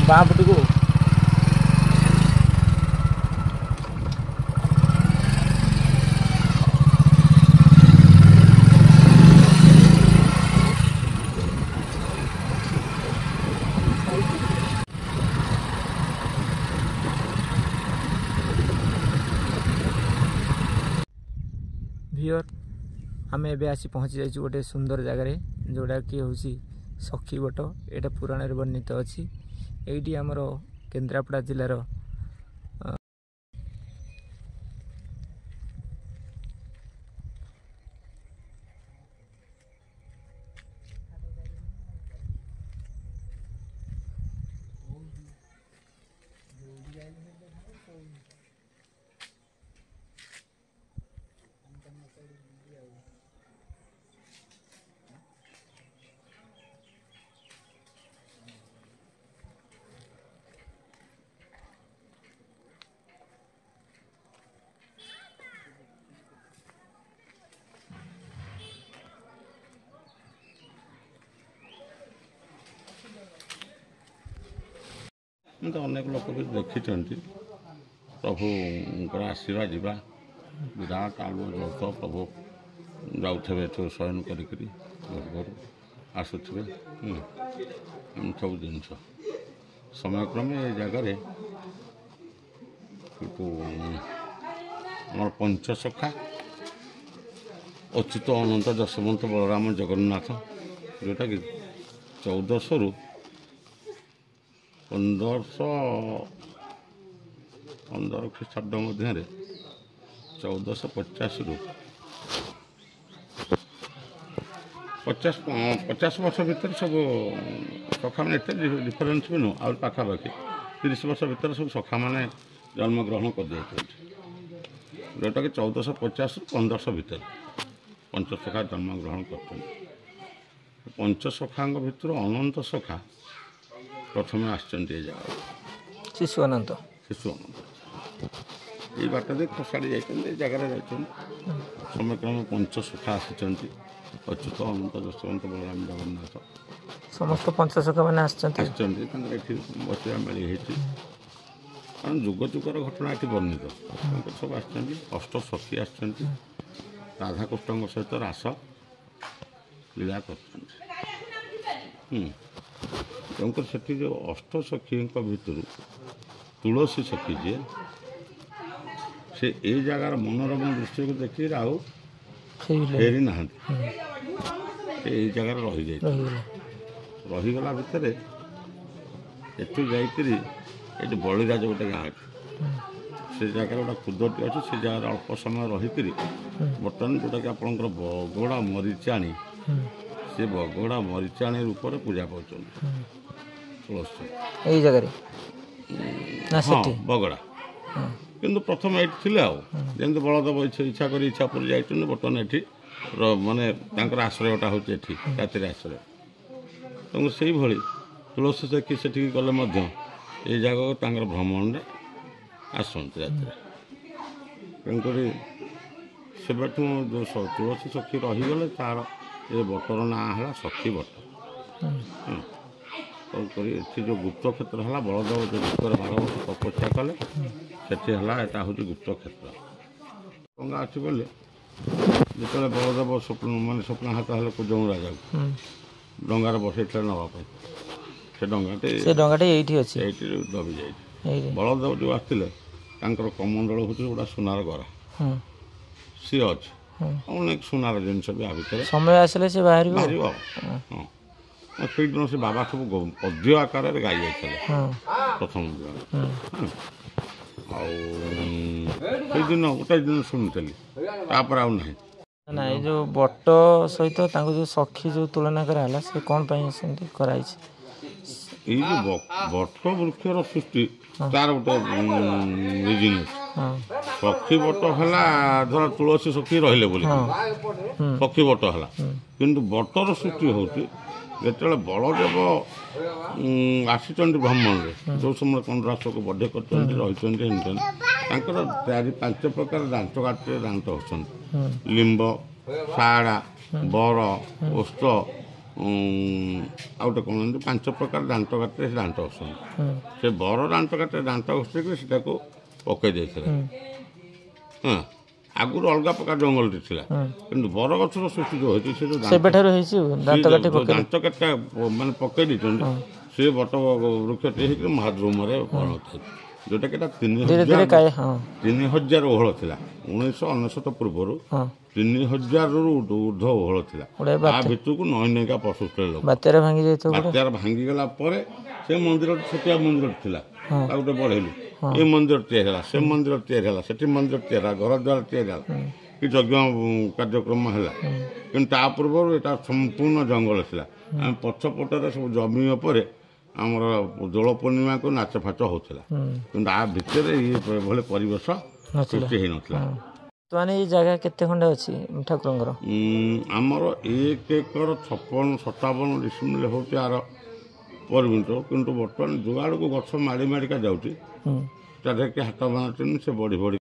ବାଁ ପଟକୁ। ଭିଅର, ଆମେ ଏବେ ଆସି ପହଞ୍ଚି ଯାଇଛୁ ଗୋଟେ ସୁନ୍ଦର ଜାଗାରେ, ଯେଉଁଟାକି ହେଉଛି ସଖୀ ବଟ। ଏଇଟା ପୁରାଣରେ ବର୍ଣ୍ଣିତ ଅଛି। ଏଇଠି ଆମର କେନ୍ଦ୍ରାପଡ଼ା ଜିଲ୍ଲାର ତ ଅନେକ ଲୋକ ବି ଦେଖିଛନ୍ତି ପ୍ରଭୁଙ୍କର ଆସିବା ଯିବା। ବିରାଟ ଆଲୁଅ ଜଳୁଥିବ, ପ୍ରଭୁ ଯାଉଥିବେ ଏଠୁ ଶୟନ କରିକିରି ଘରୁ ଘରୁ ଆସୁଥିବେ। ଏମିତି ସବୁ ଜିନିଷ ସମୟକ୍ରମେ ଏ ଜାଗାରେ କିନ୍ତୁ ଆମର ପଞ୍ଚସଖା ଅଚ୍ୟୁତ ଅନନ୍ତ ଯଶବନ୍ତ ବଳରାମ ଜଗନ୍ନାଥ, ଯେଉଁଟାକି 1400ରୁ 1515 ଖ୍ରୀଷ୍ଟାବ୍ଦ ମଧ୍ୟରେ, 1450ରୁ 50 ବର୍ଷ ଭିତରେ ସବୁ ସଖାମାନେ, ଏତେ ଡିଫରେନ୍ସ ବି ନୁହଁ, ଆହୁରି ପାଖାପାଖି 30 ବର୍ଷ ଭିତରେ ସବୁ ସଖାମାନେ ଜନ୍ମଗ୍ରହଣ କରିଯାଇଛନ୍ତି, ଯେଉଁଟାକି 1450ରୁ 1500 ଭିତରେ ପଞ୍ଚସଖା ଜନ୍ମଗ୍ରହଣ କରିଛନ୍ତି। ପଞ୍ଚସଖାଙ୍କ ଭିତରୁ ଅନନ୍ତ ସଖା ପ୍ରଥମେ ଆସିଛନ୍ତି ଏ ଜାଗାକୁ। ଶିଶୁ ଅନନ୍ତ, ଶିଶୁ ଅନନ୍ତ ଏଇ ବାଟ ଦେଇ ଖସାଡ଼ି ଯାଇଛନ୍ତି, ଏ ଜାଗାରେ ଯାଇଛନ୍ତି। ସମୟକ୍ରମେ ପଞ୍ଚସଖା ଆସିଛନ୍ତି, ଅଚ୍ୟୁତ ଅନନ୍ତ ଯଶବନ୍ତ ବଳରାମ ଜଗନ୍ନାଥ, ସମସ୍ତ ପଞ୍ଚସଖା ମାନେ ଆସିଛନ୍ତି ଆସିଛନ୍ତି। ତାଙ୍କର ଏଠି ବସିବା ମେଳି ହେଇଛି, କାରଣ ଯୁଗ ଯୁଗର ଘଟଣା ଏଠି ବର୍ଣ୍ଣିତ। ତାଙ୍କର ସବୁ ଆସିଛନ୍ତି, ଅଷ୍ଟ ସଖୀ ଆସିଛନ୍ତି, ରାଧାକୃଷ୍ଣଙ୍କ ସହିତ ରାସ ଲୀଳା କରୁଛନ୍ତି। ତେଣୁକରି ସେଠି ଯେଉଁ ଅଷ୍ଟ ସଖୀଙ୍କ ଭିତରୁ ତୁଳସୀ ସଖୀ ଯିଏ, ସେ ଏଇ ଜାଗାର ମନୋରମ ଦୃଶ୍ୟକୁ ଦେଖିକି ଆଉ ଫେରି ନାହାନ୍ତି, ସେ ଏଇ ଜାଗାରେ ରହିଯାଇଛନ୍ତି। ରହିଗଲା ଭିତରେ ଏଠୁ ଯାଇକରି ଏଠି ବଳିରାଜ ଗୋଟେ ଗାଁ ଅଛି, ସେ ଜାଗାରେ ଗୋଟେ କୁଦଟି ଅଛି, ସେ ଜାଗାରେ ଅଳ୍ପ ସମୟ ରହିକରି ବର୍ତ୍ତମାନ ଯେଉଁଟାକି ଆପଣଙ୍କର ବଗଡ଼ା ମରିଚାଣି, ସେ ବଗଡ଼ା ମରିଚାଣି ରୂପରେ ପୂଜା ପାଉଛନ୍ତି ତୁଳସୀ ଏଇ ଜାଗାରେ। ହଁ, ବଗଡ଼ା କିନ୍ତୁ ପ୍ରଥମେ ଏଇଠି ଥିଲେ। ଆଉ ଯେମିତି ବଳଦେବ ଇଚ୍ଛା କରି ଇଚ୍ଛା ପୁରୀ ଯାଇଛନ୍ତି, ବର୍ତ୍ତମାନ ଏଠି ମାନେ ତାଙ୍କର ଆଶ୍ରୟଟା ହେଉଛି ଏଠି ରାତିରେ ଆଶ୍ରୟ। ତେଣୁ ସେଇଭଳି ତୁଳସୀ ସେଠି ସେଠିକି ଗଲେ ମଧ୍ୟ ଏଇ ଜାଗାକୁ ତାଙ୍କର ଭ୍ରମଣରେ ଆସନ୍ତି ରାତିରେ। ତେଣୁକରି ସେବେଠୁ ଯେଉଁ ତୁଳସୀ ସଖୀ ରହିଗଲେ, ତାର ଏ ବଟର ନାଁ ହେଲା ସଖୀ ବଟ। ତେଣୁକରି ଏଠି ଯେଉଁ ଗୁପ୍ତ କ୍ଷେତ୍ର ହେଲା, ବଳଦେବ ଯେଉଁ ଗୁପ୍ତରେ 12 ବର୍ଷ ତପସ୍ୟା କଲେ, ସେଠି ହେଲା, ଏଟା ହେଉଛି ଗୁପ୍ତ କ୍ଷେତ୍ର। ଗଙ୍ଗା ଅଛି ବୋଲି ଯେତେବେଳେ ବଳଦେବ ସ୍ୱପ୍ନ ମାନେ ସ୍ୱପ୍ନାଘାତ ହେଲେ କୁଜଙ୍ଗ ରାଜାକୁ ଡଙ୍ଗାରେ ବସେଇଥିଲେ ନେବା ପାଇଁ, ସେ ଡଙ୍ଗାଟି ସେ ଡଙ୍ଗାଟି ଏଇଠି ଅଛି, ଏଇଠି ଦବି ଯାଇଛି। ବଳଦେବ ଯେଉଁ ଆସିଥିଲେ, ତାଙ୍କର କମଣ୍ଡଳ ହେଉଛି ଗୋଟେ ସୁନାର ଗରା, ସିଏ ଅଛି, ଅନେକ ସୁନାର ଜିନିଷ ବି ଆ ଭିତରେ। ସମୟ ଆସିଲେ ସେ ବାହାରିବ ବାହାରିବ। ହଁ, ସେଇଦିନ ସେ ବାବା ସବୁ ପଦ୍ୟ ଆକାରରେ ଗାଇ ଯାଇଥିଲେ ପ୍ରଥମ ଦିନ। ଆଉ ସେଇଦିନ ଗୋଟେ ଦିନ ଶୁଣିଥିଲି, ତାପରେ ଆଉ ନାହିଁ। ନା, ଏଇ ଯେଉଁ ବଟ ସହିତ ତାଙ୍କୁ ଯେଉଁ ସଖୀ ଯେଉଁ ତୁଳନା କରାହେଲା, ସେ କ'ଣ ପାଇଁ ସେମିତି କରାହେଇଛି? ଏଇ ଯେଉଁ ବଟ ବୃକ୍ଷର ସୃଷ୍ଟି, ତାର ଗୋଟେ ରିଜିନ୍ ଅଛି। ସଖୀ ବଟ ହେଲା, ଧର ତୁଳସୀ ସଖୀ ରହିଲେ ବୋଲି ସଖୀ ବଟ ହେଲା, କିନ୍ତୁ ବଟର ସୃଷ୍ଟି ହେଉଛି ଯେତେବେଳେ ବଳଦେବ ଆସିଛନ୍ତି ଭ୍ରମଣରେ, ଯେଉଁ ସମୟରେ କଣ୍ଡରାସକୁ ବଧ କରିଛନ୍ତି, ରହିଛନ୍ତି ଏମିତି, ତାଙ୍କର 4 5 ପ୍ରକାର ଦାନ୍ତ କାଠିରେ ଦାନ୍ତ ହେଉଛନ୍ତି, ଲିମ୍ବ, ଶାହାଡ଼ା, ବର, ଓସ୍ତ ଆଉ ଗୋଟେ କ'ଣ ଏମିତି 5 ପ୍ରକାର ଦାନ୍ତ କାଠିରେ ସେ ଦାନ୍ତ ଘଷନ୍ତି। ସେ ବର ଦାନ୍ତ କାଠିରେ ଦାନ୍ତ ଘଷିକି ସେଟାକୁ ପକେଇ ଦେଇଥିଲେ। ହଁ, ଆଗରୁ ଅଲଗା ପ୍ରକାର ଜଙ୍ଗଲଟି ଥିଲା, କିନ୍ତୁ ବରଗଛର ସୃଷ୍ଟି ଯେଉଁ ହେଇଛି ସେ ଯେଉଁ ସେବେଠାରୁ ହେଇଛି ଦାନ୍ତ କାଠିଟା ମାନେ ପକେଇ ଦେଇଛନ୍ତି, ସେ ବଟ ବୃକ୍ଷଟି ହେଇକି ମହାଦ୍ରୁମରେ ପରିଣତ ହେଇଛି, ଯେଉଁଟାକି ଏଇଟା 3000 ଓହଳ ଥିଲା। 1999 ପୂର୍ବରୁ 3000ରୁ ଉର୍ଦ୍ଧ୍ୱ ଓହଳ ଥିଲା। ତା ଭିତରକୁ ନଈ ନଈକା ପଶୁଥିଲେ ଲୋକ। ବାତ୍ୟାରେ ଭାଙ୍ଗି ଯାଇଥିବ। ବାତ୍ୟାରେ ଭାଙ୍ଗିଗଲା ପରେ ସେ ମନ୍ଦିର ଛୋଟିଆ ମନ୍ଦିରଟି ଥିଲା, ତାକୁ ଗୋଟେ ବଢ଼େଇଲୁ। ଏ ମନ୍ଦିର ତିଆରି ହେଲା, ସେ ମନ୍ଦିର ତିଆରି ହେଲା, ସେଠି ମନ୍ଦିର ତିଆରି ହେଲା, ଘର ଦ୍ୱାର ତିଆରି ହେଲା, କି ଯଜ୍ଞ କାର୍ଯ୍ୟକ୍ରମ ହେଲା। କିନ୍ତୁ ତା ପୂର୍ବରୁ ଏଇଟା ସମ୍ପୂର୍ଣ୍ଣ ଜଙ୍ଗଲ ଥିଲା। ଆମେ ପଛପଟରେ ସବୁ ଜମି ଉପରେ ଆମର ଦୋଳ ପୂର୍ଣ୍ଣିମାକୁ ନାଚ ଫାଚ ହେଉଥିଲା, କିନ୍ତୁ ଆ ଭିତରେ ଏଭଳି ପରିବେଶ ସୃଷ୍ଟି ହେଇନଥିଲା। ମାନେ ଏଇ ଜାଗା କେତେ ଖଣ୍ଡେ ଅଛି ଠାକୁରଙ୍କର? ଆମର 1 ଏକର 56 57 ଡିସିମିଲ ହେଉଛି ଆର ପରିମିତ। କିନ୍ତୁ ବର୍ତ୍ତମାନ ଯୁଆଡ଼କୁ ଗଛ ମାଡ଼ି ମାଡ଼ିକା ଯାଉଛି, ତା ଦେହରେ ହାତ ମାରୁଛନ୍ତି, ସେ ବଢ଼ି ବଢ଼ି